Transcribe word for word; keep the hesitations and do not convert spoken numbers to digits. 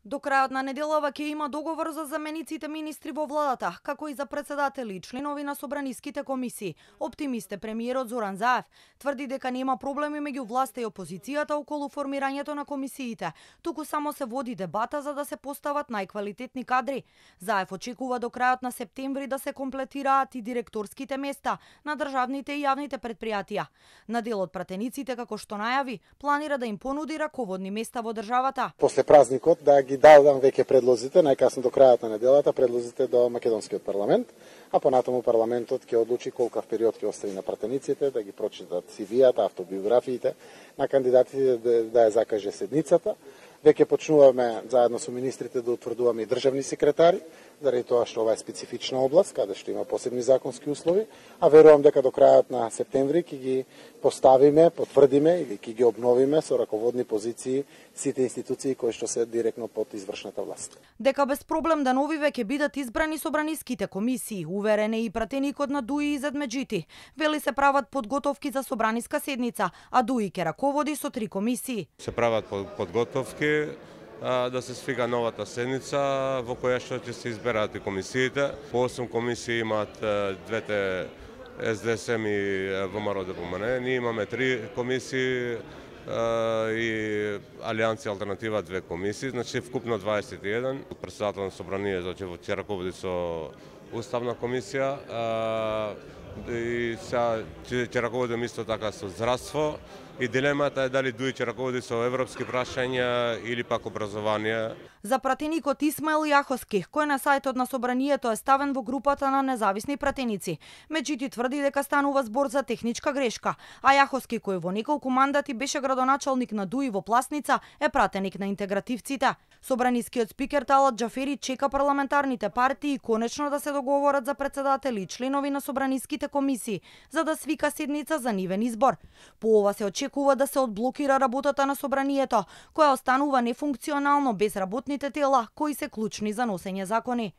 До крајот на неделава ќе има договор за замениците министри во владата, како и за председатели и членови на собраниските комисии. Оптимист е премиерот Зоран Заев. Тврди дека нема проблеми меѓу власта и опозицијата околу формирањето на комисиите, туку само се води дебата за да се постават најквалитетни кадри. Заев очекува до крајот на септември да се комплетираат и директорските места на државните и јавните претпријатија. На дел од пратениците, како што најави, планира да им понуди раководни места во државата. После празникот да ги дадам веќе предлозите, најкасно до крајот на неделата, предлозите до македонскиот парламент, а понатаму парламентот ќе одлучи колкав период ќе остави на пратениците да ги прочитат си ви-ата, автобиографиите на кандидатите, да, да ја закаже седницата. Веќе почнуваме заедно со министрите да утврдуваме и државни секретари, заради тоа што ова е специфична област, каде што има посебни законски услови, а верувам дека до крајот на септември ќе ги поставиме, потврдиме или ќе ги обновиме со раководни позиции сите институции кои што се директно под извршната власт. Дека без проблем деновиве ќе бидат избрани собраниските комисии, уверен е и пратеникот на ДУИ Изет Меджити. Вели се прават подготовки за собраниска седница, а ДУИ ќе раководи со три комисии. Се прават подготовки да се свика новата седница во која што ќе се изберат и комисиите. По осум комисии имаат двете Ес Де Ес Ем и Во Ем Ар О Д П М Н. Ние имаме три комисии и Алијанци Алтернатива две комисии, значи вкупно дваесет и еден. Председател на собранието ќе раководи со Уставна комисија и сега ќе раководим исто така со здравство. И дилемата е дали ДУИ ќе раководи со европски прашања или пак образование. За пратеникот Исмаил Јаховски, кој на сајтот на собранието е ставен во групата на независни пратеници, меѓутоа тврди дека станува збор за техничка грешка, а Јаховски, кој во неколку мандати беше градоначалник на ДУИ во Пласница, е пратеник на интегративците. Собранискиот спикер Талат Џафери чека парламентарните партии конечно да се договорат за председатели и членови на собраниските комисии, за да свика седница за нивен избор. По ова се очекува да се одблокира работата на собранието, која останува нефункционално без работните тела кои се клучни за носење закони.